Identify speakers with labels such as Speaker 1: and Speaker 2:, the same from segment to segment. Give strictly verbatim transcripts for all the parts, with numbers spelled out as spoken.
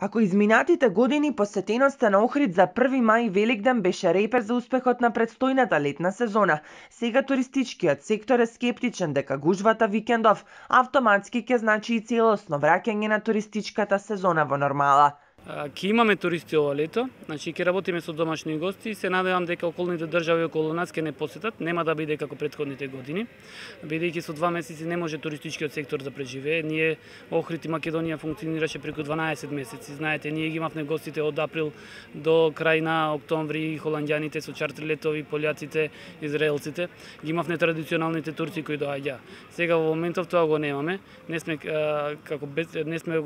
Speaker 1: Ако изминатите години посетеноста на Охрид за први мај и Великден беше репер за успехот на предстојната летна сезона, сега туристичкиот сектор е скептичен дека гужвата викендов автоматски ќе значи и целосно враќање на туристичката сезона во нормала.
Speaker 2: Ќе имаме туристи ова лето, значи ќе работиме со домашни гости и се надевам дека околните држави околу нас ќе не посетат, нема да биде како претходните години, бидејќи со два месеци не може туристичкиот сектор да преживее. Ние Охрид и Македонија функционираше преку дванаесет месеци. Знаете, ние ги имавме гостите од април до крај на октомври, холанѓаните со чартер летови, пољаците, израелците, ги имавме традиционалните турци кои доаѓаа. Сега во моментов тоа го немаме. Не сме како без, не сме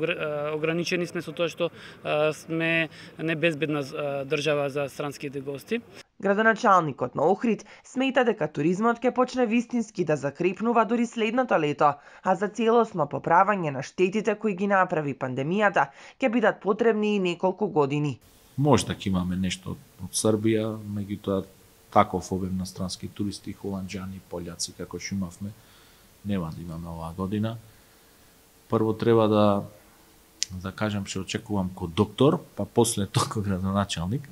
Speaker 2: ограничени сме со тоа што сме небезбедна држава за странските гости.
Speaker 1: Градоначалникот на Охрид смета дека туризмот ќе почне вистински да закрепнува дури следното лето, а за целосно поправање на штетите кои ги направи пандемијата ќе бидат потребни и неколку години.
Speaker 3: Може да ќе имаме нешто од Србија, меѓутоа таков обем на странски туристи, холанѓани, пољаци како што имавме, нема да имаме оваа година. Прво треба да да кажам што очекувам ко доктор, па после тоа ко градоначалник,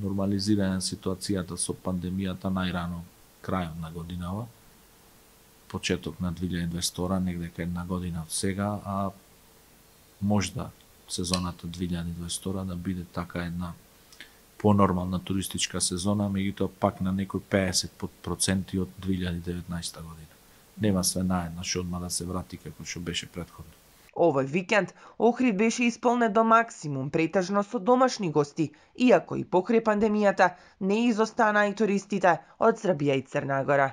Speaker 3: нормализирање на ситуацијата со пандемијата најрано крајот на годинава, почеток на две илјади и дваесет втора, негде кај една година од сега, а можда сезоната две илјади и дваесет втора да биде така една понормална туристичка сезона, меѓутоа пак на некои пеесет проценти од две илјади и деветнаесетта година. Нема све наеднаш одма да се врати како што беше претходно.
Speaker 1: Овој викенд Охрид беше исполнет до максимум, претежно со домашни гости, иако и покрај пандемијата не изостанаа и туристите од Србија и Црна Гора.